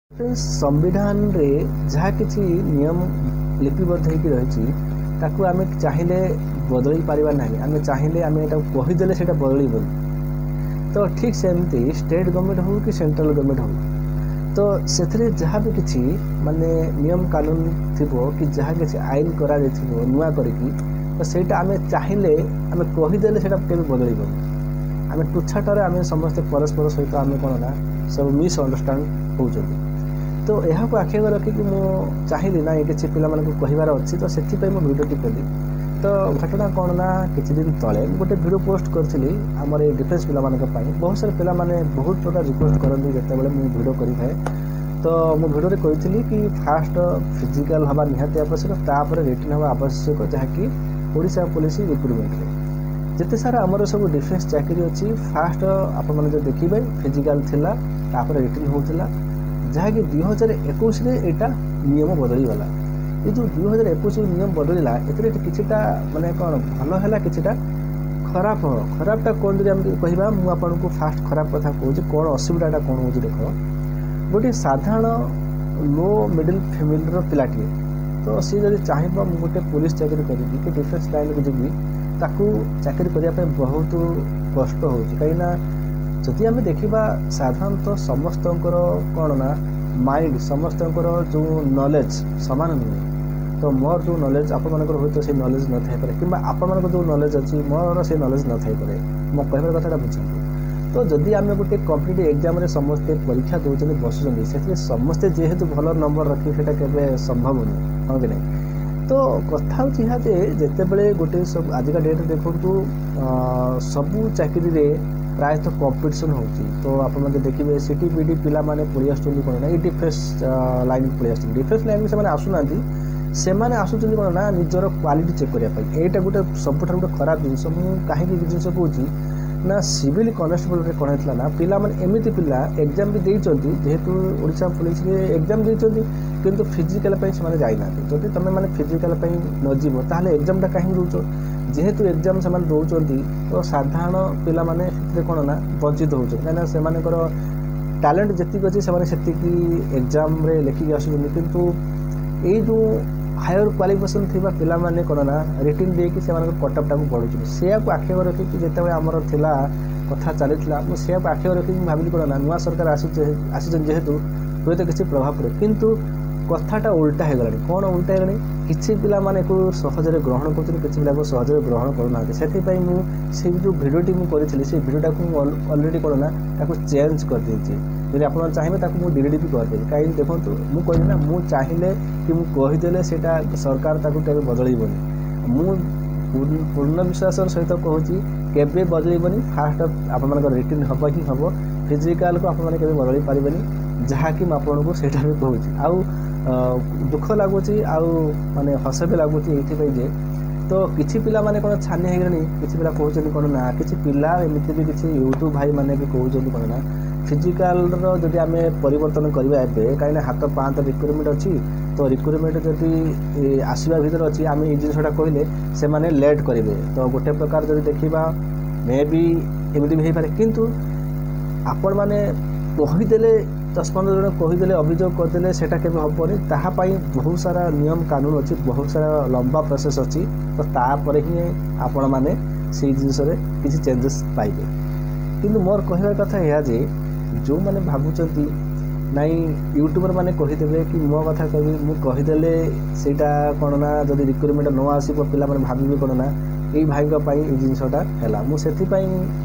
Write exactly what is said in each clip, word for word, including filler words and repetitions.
Friends, ସମ୍ବିଧାନରେ ଯାହା କିଛି ନିୟମ ଲିପିବଦ୍ଧ ହେଇକି ରହିଛି, ତାକୁ ଆମେ ଚାହିଁଲେ ବଦଳେଇ ପାରିବା ନାହିଁ। ଆମେ ଚାହିଁଲେ, ଆମେ ଏଟାକୁ କହିଦେଲେ ସେଇଟା ବଦଳିବନି। ତ ଠିକ୍ ସେମିତି ଷ୍ଟେଟ୍ ଗଭର୍ଣ୍ଣମେଣ୍ଟ ହେଉ କି ସେଣ୍ଟ୍ରାଲ ଗଭର୍ଣ୍ଣମେଣ୍ଟ ହେଉ, ତ ସେଥିରେ ଯାହା ବି କିଛି ମାନେ ନିୟମ କାନୁନ ଥିବ କି ଯାହା କିଛି ଆଇନ କରାଯାଇଥିବ ନୂଆ କରିକି, ତ ସେଇଟା ଆମେ ଚାହିଁଲେ, ଆମେ କହିଦେଲେ ସେଇଟା କେବେ ବଦଳିବନି। ଆମେ ତୁଚ୍ଛାଟାରେ ଆମେ ସମସ୍ତେ ପରସ୍ପର ସହିତ ଆମେ କ'ଣ ନା ସବୁ ମିସ୍ ଅଣ୍ଡରଷ୍ଟାଣ୍ଡ ହେଉଛନ୍ତି। ତ ଏହାକୁ ଆଖି ଆଗରେ ରଖିକି ମୁଁ ଚାହିଁଲି, ନାଇଁ, କିଛି ପିଲାମାନଙ୍କୁ କହିବାର ଅଛି, ତ ସେଥିପାଇଁ ମୁଁ ଭିଡ଼ିଓଟି କଲି। ତ ଘଟଣା କ'ଣ ନା, କିଛି ଦିନ ତଳେ ମୁଁ ଗୋଟେ ଭିଡ଼ିଓ ପୋଷ୍ଟ କରିଥିଲି ଆମର ଏଇ ଡିଫେନ୍ସ ପିଲାମାନଙ୍କ ପାଇଁ। ବହୁତ ସାରା ପିଲାମାନେ ବହୁତ ପ୍ରକାର ରିକ୍ୱେଷ୍ଟ କରନ୍ତି ଯେତେବେଳେ ମୁଁ ଭିଡ଼ିଓ କରିଥାଏ। ତ ମୁଁ ଭିଡ଼ିଓରେ କହିଥିଲି କି ଫାଷ୍ଟ ଫିଜିକାଲ୍ ହେବା ନିହାତି ଆବଶ୍ୟକ, ତାପରେ ରିଟିନ୍ ହେବା ଆବଶ୍ୟକ, ଯାହାକି ଓଡ଼ିଶା ପୋଲିସ ରିକ୍ରୁଟମେଣ୍ଟରେ ଯେତେ ସାରା ଆମର ସବୁ ଡିଫେନ୍ସ ଚାକିରି ଅଛି, ଫାଷ୍ଟ ଆପଣମାନେ ଯଦି ଦେଖିବେ ଫିଜିକାଲ୍ ଥିଲା, ତାପରେ ରିଟିନ୍ ହେଉଥିଲା, ଯାହାକି ଦୁଇ ହଜାର ଏକୋଇଶରେ ଏଇଟା ନିୟମ ବଦଳିଗଲା। ଏ ଯେଉଁ ଦୁଇ ହଜାର ଏକୋଇଶ ନିୟମ ବଦଳିଲା, ଏଥିରେ କିଛିଟା ମାନେ କ'ଣ ଭଲ ହେଲା, କିଛିଟା ଖରାପ। ଖରାପଟା କ'ଣ ଯଦି ଆମେ କହିବା, ମୁଁ ଆପଣଙ୍କୁ ଫାଷ୍ଟ ଖରାପ କଥା କହୁଛି, କ'ଣ ଅସୁବିଧାଟା କ'ଣ ହେଉଛି। ଦେଖ, ଗୋଟିଏ ସାଧାରଣ ଲୋ ମିଡ଼ିଲ୍ ଫ୍ୟାମିଲିର ପିଲାଟିଏ, ତ ସିଏ ଯଦି ଚାହିଁବ ମୁଁ ଗୋଟେ ପୋଲିସ ଚାକିରି କରିବି କି ଡିଫେନ୍ସ ଲାଇନ୍କୁ ଯିବି, ତାକୁ ଚାକିରି କରିବା ପାଇଁ ବହୁତ କଷ୍ଟ ହେଉଛି। କାହିଁକିନା ଯଦି ଆମେ ଦେଖିବା, ସାଧାରଣତଃ ସମସ୍ତଙ୍କର କ'ଣ ନା ମାଇଣ୍ଡ, ସମସ୍ତଙ୍କର ଯେଉଁ ନଲେଜ୍ ସମାନ ନୁହେଁ। ତ ମୋର ଯେଉଁ ନଲେଜ୍, ଆପଣମାନଙ୍କର ହୁଏତ ସେଇ ନଲେଜ୍ ନଥାଇପାରେ, କିମ୍ବା ଆପଣମାନଙ୍କର ଯେଉଁ ନଲେଜ୍ ଅଛି, ମୋର ସେଇ ନଲେଜ୍ ନଥାଇପାରେ। ମୋ କହିବାର କଥାଟା ବୁଝନ୍ତୁ। ତ ଯଦି ଆମେ ଗୋଟେ କମ୍ପିଟେଟିଭ୍ ଏକ୍ଜାମ୍ରେ ସମସ୍ତେ ପରୀକ୍ଷା ଦେଉଛନ୍ତି, ବସୁଛନ୍ତି, ସେଥିରେ ସମସ୍ତେ ଯେହେତୁ ଭଲ ନମ୍ବର ରଖିବେ, ସେଇଟା କେବେ ସମ୍ଭବ ନୁହେଁ, ହଁ କି ନାହିଁ? ତ କଥା ହେଉଛି ଏହା ଯେ ଯେତେବେଳେ ଗୋଟେ ସବୁ ଆଜିକା ଡେଟ୍ରେ ଦେଖନ୍ତୁ, ସବୁ ଚାକିରିରେ ପ୍ରାୟତଃ କମ୍ପିଟିସନ୍ ହେଉଛି। ତ ଆପଣମାନେ ଦେଖିବେ, ସି ଟି ବି ଡ଼ି ପିଲାମାନେ ପଳେଇ ଆସୁଛନ୍ତି କ'ଣ ନା ଏଇ ଡିଫେନ୍ସ ଲାଇନ୍କୁ ପଳେଇ ଆସୁଛନ୍ତି। ଡିଫେନ୍ସ ଲାଇନ୍କୁ ସେମାନେ ଆସୁନାହାନ୍ତି, ସେମାନେ ଆସୁଛନ୍ତି କ'ଣ ନା ନିଜର କ୍ୱାଲିଟି ଚେକ୍ କରିବା ପାଇଁ। ଏଇଟା ଗୋଟେ ସବୁଠାରୁ ଗୋଟେ ଖରାପ ଜିନିଷ। ମୁଁ କାହିଁକି ଏ ଜିନିଷ କହୁଛି ନା, ସିଭିଲ୍ କନେଷ୍ଟବଲରେ କ'ଣ ହେଇଥିଲା ନା, ପିଲାମାନେ ଏମିତି ପିଲା ଏକ୍ଜାମ୍ ବି ଦେଇଛନ୍ତି, ଯେହେତୁ ଓଡ଼ିଶା ପୋଲିସରେ ଏକ୍ଜାମ୍ ଦେଇଛନ୍ତି, କିନ୍ତୁ ଫିଜିକାଲ୍ ପାଇଁ ସେମାନେ ଯାଇନାହାନ୍ତି। ଯଦି ତୁମେ ମାନେ ଫିଜିକାଲ୍ ପାଇଁ ନ ଯିବ, ତାହେଲେ ଏକ୍ଜାମ୍ଟା କାହିଁକି ଦେଉଛ? ଯେହେତୁ ଏକ୍ଜାମ୍ ସେମାନେ ଦେଉଛନ୍ତି, ତ ସାଧାରଣ ପିଲାମାନେ ସେଥିରେ କ'ଣ ନା ବଞ୍ଚିତ ହେଉଛନ୍ତି, କାହିଁକିନା ସେମାନଙ୍କର ଟ୍ୟାଲେଣ୍ଟ ଯେତିକି ଅଛି, ସେମାନେ ସେତିକି ଏକ୍ଜାମ୍ରେ ଲେଖିକି ଆସୁଛନ୍ତି। କିନ୍ତୁ ଏଇ ଯେଉଁ ହାୟର କ୍ୱାଲିଫିକେସନ୍ ଥିବା ପିଲାମାନେ କ'ଣ ନା ରିଟିନ୍ ଦେଇକି ସେମାନଙ୍କ କଟଅଫ୍ଟାକୁ ବଢ଼ୁଛନ୍ତି। ସେୟାକୁ ଆଖି ରଖିକି ଯେତେବେଳେ ଆମର ଥିଲା, କଥା ଚାଲିଥିଲା, ମୁଁ ସେୟାକୁ ଆଖି ରଖିକି ମୁଁ ଭାବିଲି କ'ଣ ନା ନୂଆ ସରକାର ଆସୁଛି, ଆସିଛନ୍ତି ଯେହେତୁ, ହୁଏତ କିଛି ପ୍ରଭାବ ପଡ଼ିବ। କିନ୍ତୁ କଥାଟା ଓଲଟା ହେଇଗଲାଣି। କ'ଣ ଓଲଟା ହେଇଗଲାଣି? କିଛି ପିଲାମାନେ ଏକୁ ସହଜରେ ଗ୍ରହଣ କରୁଛନ୍ତି, କିଛି ପିଲାକୁ ସହଜରେ ଗ୍ରହଣ କରୁନାହାନ୍ତି। ସେଥିପାଇଁ ମୁଁ ସେଇ ଯେଉଁ ଭିଡ଼ିଓଟି ମୁଁ କରିଥିଲି, ସେଇ ଭିଡ଼ିଓଟାକୁ ମୁଁ ଅଲରେଡ଼ି କ'ଣ ନା ତାକୁ ଚେଞ୍ଜ କରିଦେଇଛି। ଯଦି ଆପଣ ଚାହିଁବେ, ତାକୁ ମୁଁ ଡିଲିଟ୍ ବି କରିଦେବି। କାହିଁକି ଦେଖନ୍ତୁ, ମୁଁ କହିଲି ନା, ମୁଁ ଚାହିଁଲେ କି ମୁଁ କହିଦେଲେ ସେଇଟା ସରକାର ତାକୁ କେବେ ବଦଳେଇବନି। ମୁଁ ପୂର୍ଣ୍ଣ ବିଶ୍ୱାସର ସହିତ କହୁଛି, କେବେ ବଦଳିବନି। ଫାଷ୍ଟ ଆପଣମାନଙ୍କର ରିଟିନ୍ ହେବ ହିଁ ହେବ, ଫିଜିକାଲକୁ ଆପଣମାନେ କେବେ ବଦଳେଇ ପାରିବେନି, ଯାହାକି ମୁଁ ଆପଣଙ୍କୁ ସେଇଟା ବି କହୁଛି। ଆଉ ଦୁଃଖ ଲାଗୁଛି ଆଉ ମାନେ ହସ ବି ଲାଗୁଛି ଏଇଥିପାଇଁ ଯେ ତ କିଛି ପିଲାମାନେ କ'ଣ ଛାନିଆ ହେଇଗଲେଣି। କିଛି ପିଲା କହୁଛନ୍ତି କ'ଣ ନା, କିଛି ପିଲା ଏମିତି ବି କିଛି ୟୁଟ୍ୟୁବ୍ ଭାଇମାନେ ବି କହୁଛନ୍ତି କ'ଣ ନା, ଫିଜିକାଲର ଯଦି ଆମେ ପରିବର୍ତ୍ତନ କରିବା ଏବେ, କାହିଁକିନା ହାତ ପାହାନ୍ତ ରିକ୍ରୁଟମେଣ୍ଟ ଅଛି, ତ ରିକ୍ରୁଟମେଣ୍ଟ ଯଦି ଆସିବା ଭିତରେ ଅଛି, ଆମେ ଏଇ ଜିନିଷଟା କହିଲେ ସେମାନେ ଲେଟ୍ କରିବେ। ତ ଗୋଟେ ପ୍ରକାର ଯଦି ଦେଖିବା, ମେ ବି ଏମିତି ବି ହେଇପାରେ। କିନ୍ତୁ ଆପଣମାନେ କହିଦେଲେ, ଦଶ ପନ୍ଦର ଜଣ କହିଦେଲେ, ଅଭିଯୋଗ କରିଦେଲେ, ସେଇଟା କେବେ ହେବନି। ତାହା ପାଇଁ ବହୁତ ସାରା ନିୟମ କାନୁନ ଅଛି, ବହୁତ ସାରା ଲମ୍ବା ପ୍ରୋସେସ୍ ଅଛି। ତ ତାପରେ ହିଁ ଆପଣମାନେ ସେଇ ଜିନିଷରେ କିଛି ଚେଞ୍ଜେସ୍ ପାଇବେ। କିନ୍ତୁ ମୋର କହିବା କଥା ଏହା ଯେ ଯେଉଁମାନେ ଭାବୁଛନ୍ତି ନାଇଁ, ୟୁଟ୍ୟୁବର ମାନେ କହିଦେବେ କି ମୋ କଥା କହିବି, ମୁଁ କହିଦେଲେ ସେଇଟା କ'ଣ ନା ଯଦି ରିକ୍ରୁଟମେଣ୍ଟ ନ ଆସିବ, ପିଲାମାନେ ଭାବିବେ କ'ଣ ନା ଏଇ ଭାଇଙ୍କ ପାଇଁ ଏଇ ଜିନିଷଟା ହେଲା। ମୁଁ ସେଥିପାଇଁ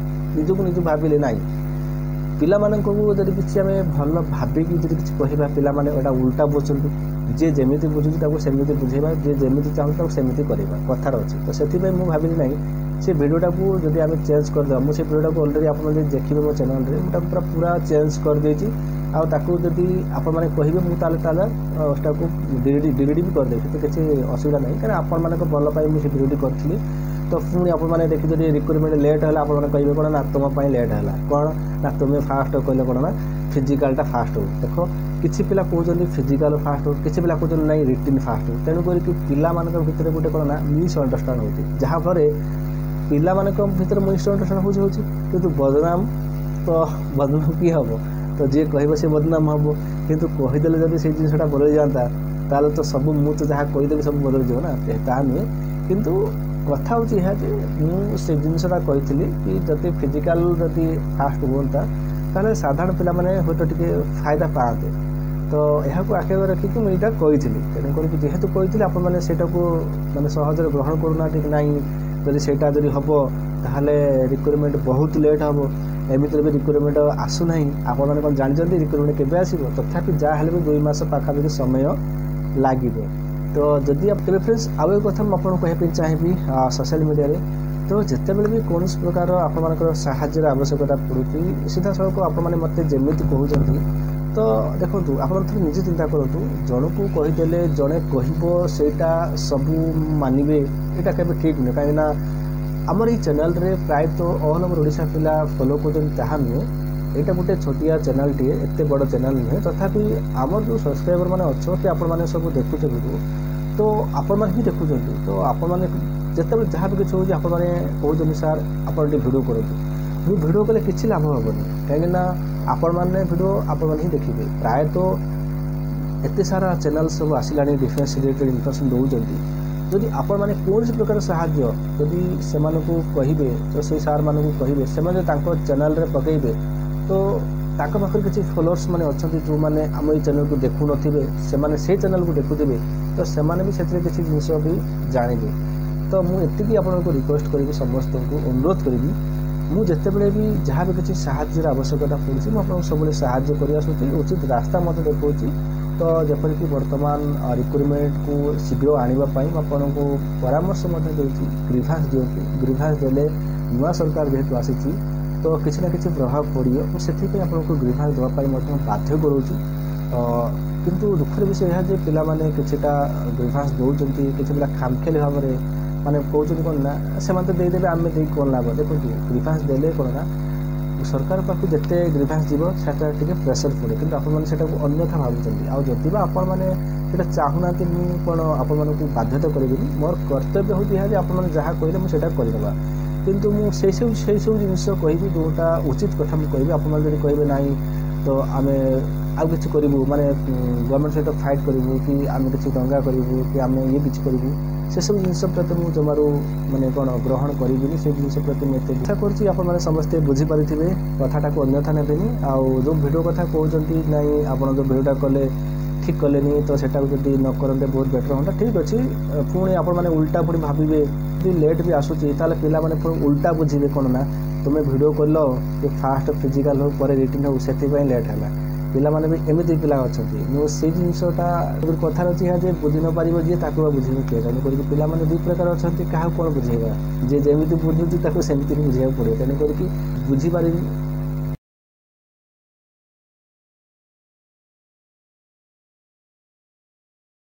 ନିଜକୁ ନିଜକୁ ଭାବିଲି, ନାଇଁ, ପିଲାମାନଙ୍କୁ ଯଦି କିଛି ଆମେ ଭଲ ଭାବିକି ଯଦି କିଛି କହିବା, ପିଲାମାନେ ଏଇଟା ଉଲ୍ଟା ବୁଝୁଛନ୍ତି। ଯିଏ ଯେମିତି ବୁଝୁଛି ତାକୁ ସେମିତି ବୁଝେଇବା, ଯିଏ ଯେମିତି ଚାହୁଁଛି ତାକୁ ସେମିତି କରିବା କଥାର ଅଛି। ତ ସେଥିପାଇଁ ମୁଁ ଭାବିଲି, ନାହିଁ, ସେ ଭିଡ଼ିଓଟାକୁ ଯଦି ଆମେ ଚେଞ୍ଜ କରିଦେବା। ମୁଁ ସେ ଭିଡ଼ିଓଟାକୁ ଅଲରେଡ଼ି ଆପଣ ଯଦି ଦେଖିବେ ମୋ ଚ୍ୟାନେଲରେ, ମୁଁ ତାକୁ ପୁରା ପୁରା ଚେଞ୍ଜ କରିଦେଇଛି। ଆଉ ତାକୁ ଯଦି ଆପଣମାନେ କହିବେ, ମୁଁ ତାହେଲେ ତାହେଲେ ସେଟାକୁ ଡିଲିଟ୍ ଡିଲିଟ୍ ବି କରିଦେବି, ସେଥିରେ କିଛି ଅସୁବିଧା ନାହିଁ। କାରଣ ଆପଣମାନଙ୍କ ଭଲ ପାଇଁ ମୁଁ ସେ ଭିଡ଼ିଓଟି କରିଥିଲି। ତ ପୁଣି ଆପଣମାନେ ଦେଖି ଯଦି ରିକ୍ରୁଟମେଣ୍ଟ ଲେଟ୍ ହେଲା, ଆପଣମାନେ କହିବେ କ'ଣ ନା ତୁମ ପାଇଁ ଲେଟ୍ ହେଲା, କ'ଣ ନା ତୁମେ ଫାଷ୍ଟ କହିଲେ କ'ଣ ନା ଫିଜିକାଲଟା ଫାଷ୍ଟ ହଉ। ଦେଖ, କିଛି ପିଲା କହୁଛନ୍ତି ଫିଜିକାଲ ଫାଷ୍ଟ ହଉ, କିଛି ପିଲା କହୁଛନ୍ତି ନାଇଁ, ରିଟିନ୍ ଫାଷ୍ଟ ହଉ। ତେଣୁ କରିକି ପିଲାମାନଙ୍କ ଭିତରେ ଗୋଟେ କ'ଣ ନା ମିସ୍ ଅଣ୍ଡରଷ୍ଟାଣ୍ଡ ହେଉଛି, ଯାହାଫଳରେ ପିଲାମାନଙ୍କ ଭିତରେ ମିସ୍ ଅଣ୍ଡରଷ୍ଟାଣ୍ଡ ହେଉଛି ହେଉଛି କିନ୍ତୁ ବଦନାମ ତ ବଦନାମ କିଏ ହେବ? ତ ଯିଏ କହିବ ସେ ବଦନାମ ହେବ। କିନ୍ତୁ କହିଦେଲେ ଯଦି ସେଇ ଜିନିଷଟା ବଦଳି ଯାଆନ୍ତା, ତାହେଲେ ତ ସବୁ ମୁଁ ତ ଯାହା କହିଦେବି ସବୁ ବଦଳିଯିବ ନା, ତାହା ନୁହେଁ। କିନ୍ତୁ କଥା ହେଉଛି ଏହା ଯେ ମୁଁ ସେ ଜିନିଷଟା କହିଥିଲି କି ଯଦି ଫିଜିକାଲ ଯଦି ଫାଷ୍ଟ ହୁଅନ୍ତା, ତାହେଲେ ସାଧାରଣ ପିଲାମାନେ ହୁଏତ ଟିକେ ଫାଇଦା ପାଆନ୍ତେ। ତ ଏହାକୁ ଆଖି ଆଗରେ ରଖିକି ମୁଁ ଏଇଟା କହିଥିଲି। ତେଣୁକରିକି ଯେହେତୁ କହିଥିଲି, ଆପଣମାନେ ସେଇଟାକୁ ମାନେ ସହଜରେ ଗ୍ରହଣ କରୁନାହାନ୍ତି କି ନାଇଁ, ଯଦି ସେଇଟା ଯଦି ହେବ ତାହେଲେ ରିକ୍ରୁଟମେଣ୍ଟ ବହୁତ ଲେଟ୍ ହେବ। ଏମିତିରେ ବି ରିକ୍ରୁଟମେଣ୍ଟ ଆସୁନାହିଁ। ଆପଣମାନେ କ'ଣ ଜାଣିଛନ୍ତି ରିକ୍ରୁଟମେଣ୍ଟ କେବେ ଆସିବ? ତଥାପି ଯାହା ହେଲେ ବି ଦୁଇ ମାସ ପାଖାପାଖି ସମୟ ଲାଗିବ। ତ ଯଦି ତେବେ ଫ୍ରେଣ୍ଡସ୍, ଆଉ ଏକ କଥା ମୁଁ ଆପଣଙ୍କୁ କହିବା ପାଇଁ ଚାହିଁବି, ସୋସିଆଲ ମିଡ଼ିଆରେ ତ ଯେତେବେଳେ ବି କୌଣସି ପ୍ରକାର ଆପଣମାନଙ୍କର ସାହାଯ୍ୟର ଆବଶ୍ୟକତା ପଡ଼ୁଛି, ସିଧାସଳଖ ଆପଣମାନେ ମୋତେ ଯେମିତି କହୁଛନ୍ତି, ତ ଦେଖନ୍ତୁ, ଆପଣ ଥରେ ନିଜେ ଚିନ୍ତା କରନ୍ତୁ, ଜଣକୁ କହିଦେଲେ ଜଣେ କହିବ ସେଇଟା ସବୁ ମାନିବେ, ଏଇଟା କେବେ ଠିକ୍ ନୁହେଁ। କାହିଁକିନା ଆମର ଏଇ ଚ୍ୟାନେଲରେ ପ୍ରାୟତଃ ଅଲ୍ ଓଭର ଓଡ଼ିଶା ପିଲା ଫଲୋ କରୁଛନ୍ତି ତାହା ନୁହେଁ। ଏଇଟା ଗୋଟେ ଛୋଟିଆ ଚ୍ୟାନେଲଟିଏ, ଏତେ ବଡ଼ ଚ୍ୟାନେଲ ନୁହେଁ। ତଥାପି ଆମର ଯେଉଁ ସବସ୍କ୍ରାଇବର ମାନେ ଅଛନ୍ତି, ଆପଣମାନେ ସବୁ ଦେଖୁଛନ୍ତି ଭିଡ଼ିଓ, ତ ଆପଣମାନେ ହିଁ ଦେଖୁଛନ୍ତି। ତ ଆପଣମାନେ ଯେତେବେଳେ ଯାହା ବି କିଛି ହେଉଛି, ଆପଣମାନେ କହୁଛନ୍ତି, ସାର୍ ଆପଣ ଟିକେ ଭିଡ଼ିଓ କରନ୍ତୁ। ମୁଁ ଭିଡ଼ିଓ କଲେ କିଛି ଲାଭ ହେବନି, କାହିଁକିନା ଆପଣମାନେ ଭିଡ଼ିଓ ଆପଣମାନେ ହିଁ ଦେଖିବେ। ପ୍ରାୟତଃ ଏତେ ସାରା ଚ୍ୟାନେଲ୍ ସବୁ ଆସିଲାଣି, ଡିଫେନ୍ସ ରିଲେଟେଡ଼ ଇନଫର୍ମେସନ୍ ଦେଉଛନ୍ତି। ଯଦି ଆପଣମାନେ କୌଣସି ପ୍ରକାର ସାହାଯ୍ୟ ଯଦି ସେମାନଙ୍କୁ କହିବେ, ତ ସେଇ ସାର୍ମାନଙ୍କୁ କହିବେ, ସେମାନେ ଯଦି ତାଙ୍କ ଚ୍ୟାନେଲ୍ରେ ପକାଇବେ, ତ ତାଙ୍କ ପାଖରେ କିଛି ଫଲୋଅର୍ସ ମାନେ ଅଛନ୍ତି ଯେଉଁମାନେ ଆମ ଏଇ ଚ୍ୟାନେଲ୍କୁ ଦେଖୁନଥିବେ, ସେମାନେ ସେଇ ଚ୍ୟାନେଲ୍କୁ ଦେଖୁଥିବେ, ତ ସେମାନେ ବି ସେଥିରେ କିଛି ଜିନିଷ ବି ଜାଣିବେ। ତ ମୁଁ ଏତିକି ଆପଣଙ୍କୁ ରିକ୍ୱେଷ୍ଟ କରିବି, ସମସ୍ତଙ୍କୁ ଅନୁରୋଧ କରିବି, ମୁଁ ଯେତେବେଳେ ବି ଯାହା ବି କିଛି ସାହାଯ୍ୟର ଆବଶ୍ୟକତା ପଡ଼ୁଛି, ମୁଁ ଆପଣଙ୍କୁ ସବୁବେଳେ ସାହାଯ୍ୟ କରି ଆସୁଛି, ଉଚିତ ରାସ୍ତା ମଧ୍ୟ ଦେଖାଉଛି। ତ ଯେପରିକି ବର୍ତ୍ତମାନ ରିକ୍ରୁଟମେଣ୍ଟକୁ ଶୀଘ୍ର ଆଣିବା ପାଇଁ ମୁଁ ଆପଣଙ୍କୁ ପରାମର୍ଶ ମଧ୍ୟ ଦେଉଛି, ଗ୍ରିଭାନ୍ସ ଦିଅନ୍ତୁ। ଗ୍ରିଭାନ୍ସ ଦେଲେ ନୂଆ ସରକାର ଯେହେତୁ ଆସିଛି, ତ କିଛି ନା କିଛି ପ୍ରଭାବ ପଡ଼ିବ। ମୁଁ ସେଥିପାଇଁ ଆପଣଙ୍କୁ ଗ୍ରିଭାନ୍ସ ଦେବା ପାଇଁ ମଧ୍ୟ ବାଧ୍ୟ କରୁଛି। କିନ୍ତୁ ଦୁଃଖର ବିଷୟ ଏହା ଯେ ପିଲାମାନେ କିଛିଟା ଗ୍ରିଭାନ୍ସ ଦେଉଛନ୍ତି, କିଛି ପିଲା ଖାମଖିଆଲି ଭାବରେ ମାନେ କହୁଛନ୍ତି କ'ଣ ନା ସେମାନେ ତ ଦେଇଦେବେ, ଆମେ ଦେଇକି କ'ଣ ଲାଭ? ଦେଖନ୍ତୁ, ଗ୍ରିଭାନ୍ସ ଦେଲେ କ'ଣ ନା ସରକାର ପାଖକୁ ଯେତେ ଗ୍ରିଭାନ୍ସ ଯିବ, ସେଟା ଟିକେ ପ୍ରେସର ପଡ଼େ। କିନ୍ତୁ ଆପଣମାନେ ସେଇଟାକୁ ଅନ୍ୟଥା ଭାବୁଛନ୍ତି। ଆଉ ଯଦି ବା ଆପଣମାନେ ସେଇଟା ଚାହୁଁନାହାନ୍ତି, ମୁଁ କ'ଣ ଆପଣମାନଙ୍କୁ ବାଧ୍ୟତା କରିବିନି। ମୋର କର୍ତ୍ତବ୍ୟ ହେଉଛି ଏହା ଯେ ଆପଣମାନେ ଯାହା କହିଲେ ମୁଁ ସେଇଟା କରିଦେବା। କିନ୍ତୁ ମୁଁ ସେଇ ସବୁ ସେଇ ସବୁ ଜିନିଷ କହିବି ଯେଉଁଟା ଉଚିତ କଥା ମୁଁ କହିବି। ଆପଣମାନେ ଯଦି କହିବେ ନାହିଁ ତ ଆମେ ଆଉ କିଛି କରିବୁ, ମାନେ ଗଭର୍ଣ୍ଣମେଣ୍ଟ ସହିତ ଫାଇଟ୍ କରିବୁ କି ଆମେ କିଛି ଦଙ୍ଗା କରିବୁ କି ଆମେ ଇଏ କିଛି କରିବୁ, ସେସବୁ ଜିନିଷ ପ୍ରତି ମୁଁ ଜମାରୁ ମାନେ କ'ଣ ଗ୍ରହଣ କରିବିନି। ସେ ଜିନିଷ ପ୍ରତି ମୁଁ ଏତେ ଆଶା କରୁଛି ଆପଣମାନେ ସମସ୍ତେ ବୁଝିପାରିଥିବେ, କଥାଟାକୁ ଅନ୍ୟଥା ନେବେନି। ଆଉ ଯେଉଁ ଭିଡ଼ିଓ କଥା କହୁଛନ୍ତି, ନାଇଁ ଆପଣ ଯେଉଁ ଭିଡ଼ିଓଟା କଲେ ଠିକ୍ କଲେନି, ତ ସେଟାକୁ ଯଦି ନ କରନ୍ତେ ବହୁତ ବେଟର୍ ହୁଅନ୍ତା। ଠିକ୍ ଅଛି, ପୁଣି ଆପଣମାନେ ଉଲ୍ଟା ପୁଣି ଭାବିବେ, ଯଦି ଲେଟ୍ ବି ଆସୁଛି ତାହେଲେ ପିଲାମାନେ ପୁଣି ଉଲ୍ଟା ବୁଝିବେ କ'ଣ ନା ତୁମେ ଭିଡ଼ିଓ କଲ କି ଫାଷ୍ଟ ଫିଜିକାଲ୍ ହଉ ପରେ ରିଟିନ୍ ହଉ, ସେଥିପାଇଁ ଲେଟ୍ ହେଲା। ପିଲାମାନେ ବି ଏମିତି ପିଲା ଅଛନ୍ତି। ମୁଁ ସେଇ ଜିନିଷଟା କଥାରେ ଅଛି ଏହା ଯେ ବୁଝି ନ ପାରିବ ଯିଏ, ତାକୁ ବା ବୁଝେଇବ କିଏ? ତେଣୁ କରିକି ପିଲାମାନେ ଦୁଇ ପ୍ରକାର ଅଛନ୍ତି, କାହାକୁ କ'ଣ ବୁଝେଇବା? ଯିଏ ଯେମିତି ବୁଝୁଛି ତାକୁ ସେମିତି ହିଁ ବୁଝେଇବାକୁ ପଡ଼ିବ। ତେଣୁ କରିକି ବୁଝିପାରି